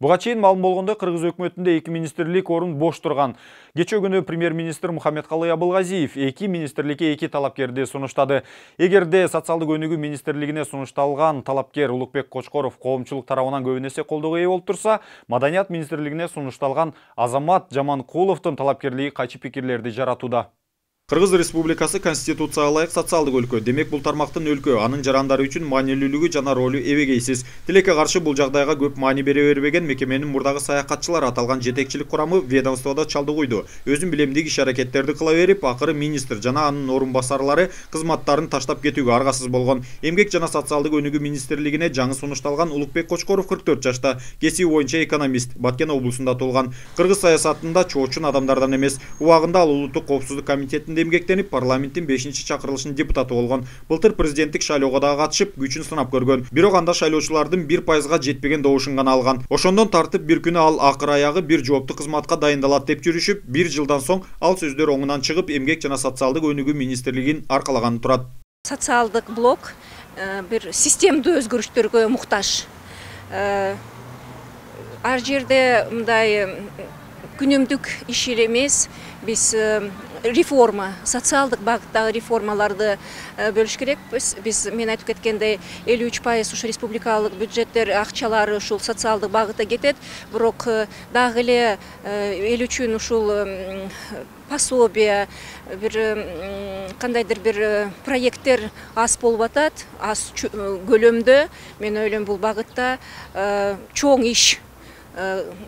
Буга чейин маалым болгондой, Кыргыз өкмөтүндө 2 министрлик орун бош турган. Кечээ күнү премьер-министр Мухаммедкалый Абылгазиев 2 министрликке 2 талапкерди сунуштады. Эгерде социалдык өнүгүү министрлигине сунушталган талапкер Улукбек Кочкоров коомчулук тарабынан көп эсе колдоого ээ болуп турса, Маданият министрлигине сунушталган Азамат Жаманкуловдун талапкерлиги кайчы пикирлерди жаратууда. Кыргыз Республикасы Конституцияга ылайык социалдык өлкө. Демек бул тармактын өлкө, анын жарандары үчүн маанилүүлүгү жана ролу эбегейсиз. Тилекке каршы бул жагдайга көп маани бере бербеген мекеменин мурдагы саякатчылар аталган жетекчилик курамы ведомстводо чалдыгуйду. Өзүн билемдик иш-аракеттерди кыла берип, акыры министр жана анын орун басарлары кызматтарын таштап кетүүгө аргасыз болгон. Эмгек жана социалдык өнүгүү министрлигине жаңы сунушталган Улукбек Кочкоров 44 жашта, кесиби боюнча экономист, Баткен облусунда туулган. Кыргыз саясатында чоочун адамдардан эмес. Убагында ал улуттук коопсуздук комитетинде эмгектенип, парламенттин 5-чакырылышынын депутаты болгон. Былтыр президенттик шайлоого да катышып, күчүн сынап көргөн. Бирок анда шайлоочулардын 1% жетпеген добушун гана алган. Ошондон тартып бир күнү ал акыр аягы бир жооптуу кызматка дайындалат деп жүрүшүп, 1 жылдан соң ал сөздөр оңунан чыгып, эмгек жана социалдык өнүгүү министрлигин аркалаганы турат. Социалдык блок бир системдүү өзгөрүштөргө муктаж. Ар жерде мындай күнүмдүк иш эмес, биз реформа, социалдык багыттагы реформаларды бөлүш керекпиз. Мен айтып кеткендей 53% ушу республикалык бюджеттер акчалары ушул социалдык багытта кетет. Бирок дагы эле эл үчүн ушул пособие, бир кандайдыр бир проекттер аз болуп атат, аз көлөмдө. Мен ойлойм, бул багытта чоң иш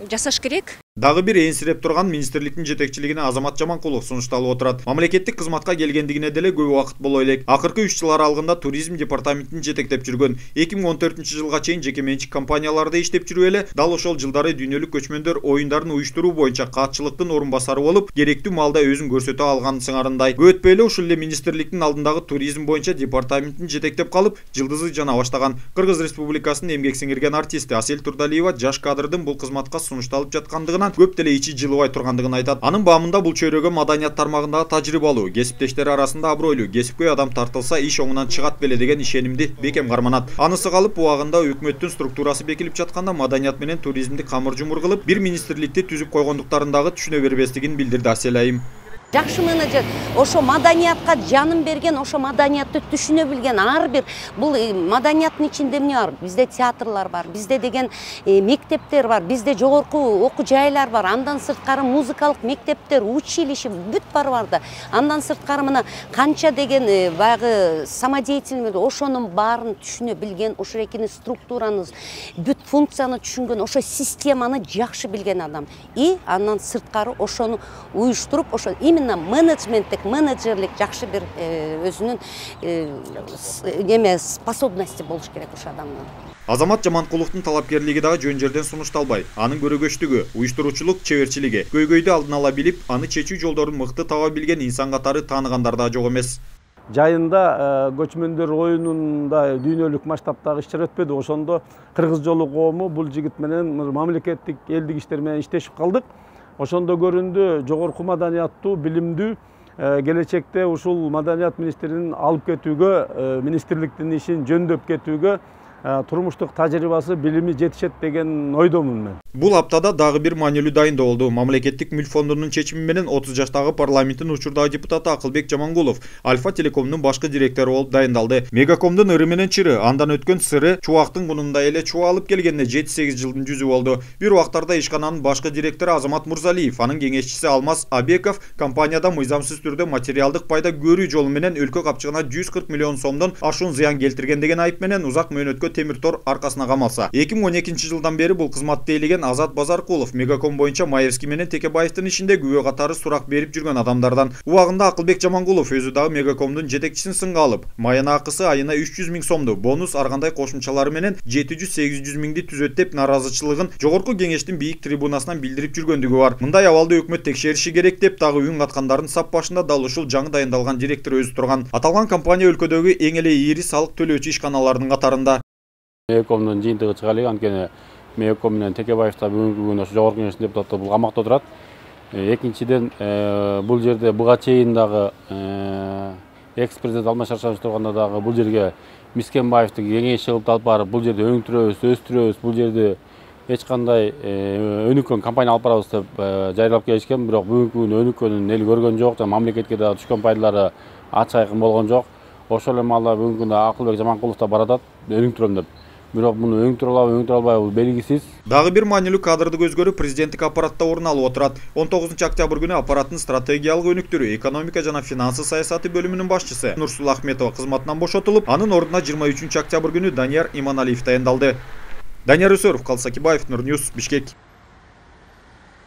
жасаш керек. Дагы бир энсиреп турган министрликтин жетекчилигине Азамат Жаманкулов сунушталып отурат. Мамлекеттик кызматка келгендигине деле көп убакыт боло элек. Акыркы 3 жыл аралыгында туризм департаментин жетектеп жүргөн. 2014-жылга чейин жеке менчик компанияларда иштеп жүрүп эле, дал ошол жылдары дүйнөлүк көчмөндөр оюндарын уюштуруу боюнча каатчылыктын орун басары болуп, керектүү маалда өзүн көрсөтө алган сыңарындай. Өтпөй эле ушул эле министрликтин алдындагы туризм боюнча департаментин жетектеп калып, жылдызы жана баштаган. Кыргыз Республикасынын эмгек сиңирген артисти Асель Турдалиева жаш кадрдын бул кызматка сунушталып жаткандыгына көп деле ичи жылыбай тургандыгын айтат. Анын баамында бул чөйрөгө маданият тармагындагы тажрыйбалуу, кесиптештери арасында абройлуу, кесипкөй адам тартылса иш оңунан чыгат беле деген ишенимди бекем карманат. Анысы калып, убагында өкмөттүн структурасы бекилип жатканда маданият менен туризмди камыр-жумур кылып, бир министрликти түзүп койгондуктарын дагы түшүнө бербестигин билдирди Асель айым. Жакшы менеджер, ошо маданиятка жанын берген, ошо маданиятты түшүнө билген ар бир. Бул маданияттын ичинде эмне бар? Бизде театрлар бар, бизде деген мектептер бар, бизде жогорку окуу жайлар бар, андан сырткары музыкалык мектептер, училище бүт бар да. Андан сырткары мына канча деген баягы самодеятельный, ошонун баарын түшүнө билген, ошо экини структураны, бүт функцияны түшүнгөн, ошо системаны жакшы билген адам. И андан сырткары ошону уюштуруп, ошо именно менеджерлик жакшы бир өзүнүн способности болуш керек ошо адамдын. Азамат Жаманкуловдун талапкерлиги дагы жөн жерден сунушталбай. Анын көрөгөчтүгү, уюштуруучулук чеберчилиги, көйгөйдү алдын ала билип, аны чечүү жолдорун мыкты таба билген инсан катары тааныгандар да жок эмес. Жайында көчмөндөр оюнунда дүйнөлүк масштабтагы иш-чара өтпөдү. Ошондо Кыргыз жолу коому бул жигит менен мамлекеттик элдик иштер менен иштешип калдык. Ошондо көрүндү, жогорку маданияттуу, билимдүү, келечекте ушул маданият министринин алып кетүүгө, министрликтин ишин жөндөп кетүүгө турмуштук тажрыйбасы, билими жетишет деген ойдомун мен. Бул аптада дагы бир маанилүү дайындоо болду. Мамлекеттик мүлк фондунун чечими менен 30 жаштагы парламенттин учурдагы депутаты Акылбек Жамангулов Альфа Телекомдун башкы директору болуп дайындалды. Мегакомдун ыры менен чыры, андан өткөн сыры чубактын кунундай эле чуба алып келгенине 7-8 жылдын жүзү болду. Бир убактарда ишкананын башкы директору Азамат Мурзалиев, анын кеңешчиси Алмаз Абеков компанияда мыйзамсыз түрдө материалдык пайда көрүү жолу менен өлкө капчыгына 140 миллион сомдон ашуун зыян келтирген деген айып менен узак мөөнөткө темир тор аркасына камалса. 2012-жылдан бери бул кызматты ээлеген Азат Базаркулов Мегаком боюнча Маевский менен Текебаевдин ишинде күбө катары сурак берип жүргөн адамдардан. Убагында Акылбек Жамангулов өзү дагы Мегакомдун жетекчисин сынга алып, майына акысы айына 300 миң сомду, бонус ар кандай кошумчалары менен 700-800 миңди түзөт деп наразычылыгын жогорку кеңештин бийик трибунасынан билдирип жүргөндүгү бар. Мындай абалды өкмөт текшериши керек деп дагы үн каткандардын сап башында дал ушул жаңы дайындалган директор өзү турган. Аталган компания өлкөдөгү эң эле ийри салык төлөөчү ишканалардын катарында. Мегакомдун жыйынтыгы чыга элек, анткени Мегаком менен Текебаевда бүгүнкү күнү ошо жогорку кеңештин депутаты бул камакта отурат. Экинчиден, бул жерде буга чейин дагы экс-президент Алмаз Шаршенович турганда дагы бул жерге Мискенбаевди кеңешчи кылып алып барып, бул жерде өңтүрөбүз, өстүрөбүз, бул жерде эч кандай өнүккөн компания алып барабыз деп жарыялап келишкен, бирок бүгүнкү күнү өнүккөнүн эл көргөн жок, жана мамлекетке да түшкөн пайдалары ачык айкын болгон жок. Ошол эле маалда бүгүнкү күндө Акылбек Жаманкулов да баратат өнүктүрөм деп. Бирок муну өнүктүрө алабы, өнүктүрө албайбы бул белгисиз. Дагы бир маанилүү кадрдык өзгөрүү президенттик аппаратта орун алып отурат. 19 октябрь күнү аппараттын стратегиялык өнүктүрүү, экономика жана финансы саясаты бөлүмүнүн башчысы Нурсулла Ахметова кызматынан бошотулуп, анын ордуна 23 октябрь күнү Данияр Иманалиев таяндалды. Данияр Өсөров, Калыс Акибаев, Нур Ньюс, Бишкек.